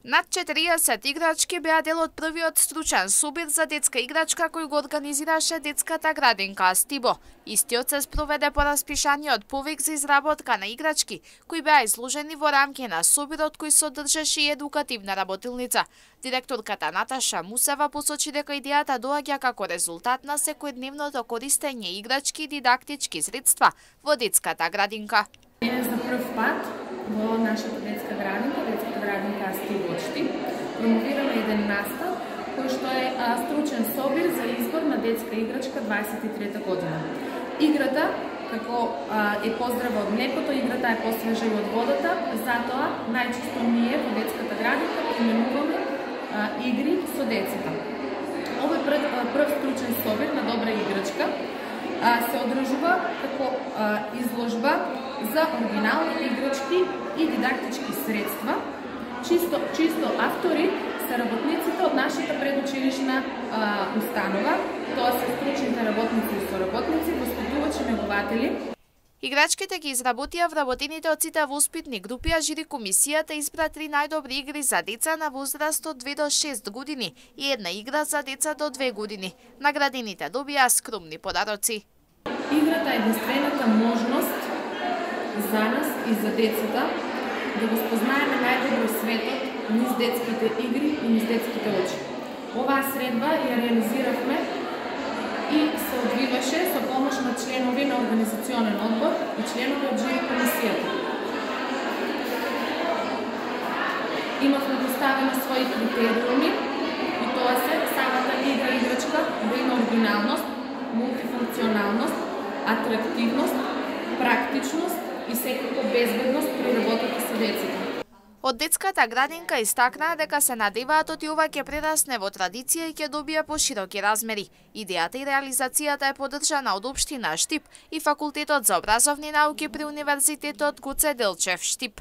Над 40 играчки беа дел од првиот стручен собир за детска играчка кој го организираше детската градинка Стибо. Истиот се спроведе по распишаниот повик за изработка на играчки кои беа изложени во рамки на собирот кој содржеше и едукативна работилница. Директорката Наташа Мусева посочи дека идејата доаѓа како резултат на секојдневното користење играчки и дидактички средства во детската градинка. За прв пат во нашата детска градинка Стибо промовираме еден настав кој што е стручен собир за избор на детска играчка 23-та година. Играта, како е поздрава од млекото, играта е посвежа и од водата, затоа најчесто ние во детската градинка применуваме игри со децата. Овој прв стручен собир на добра играчка се одржува како изложба за оригинални играчки и дидактички средства, чисто автори се работниците од нашата предучилишна установа, тоа се стручните работници и соработници, воспитувачи, негователи. Играчките ги изработија вработените од сите воспитни групи, а жири комисијата избра 3 најдобри игри за деца на возраст од 2 до 6 години и една игра за деца до 2 години. Наградените добија скромни подароци. Играта е единствената можност за нас и за децата да го спознаеме најдобро светот низ детските игри и низ детските очи. Оваа средба ја реализиравме и се одвиваше со помош на членови на организационен одбор и членови од жири комисијата. Имавме поставено своји критериуми и тоа се самата играчка да има оригиналност, мултифункционалност, атрактивност, практичност и секако безбедност при работата со децата. Од детската градинка истакнаа дека се надеваат оти ова ќе прерасне во традиција и ќе добија пошироки размери. Идејата и реализацијата е поддржана од општина Штип и Факултетот за образовни науки при Универзитетот Гоце Делчев Штип.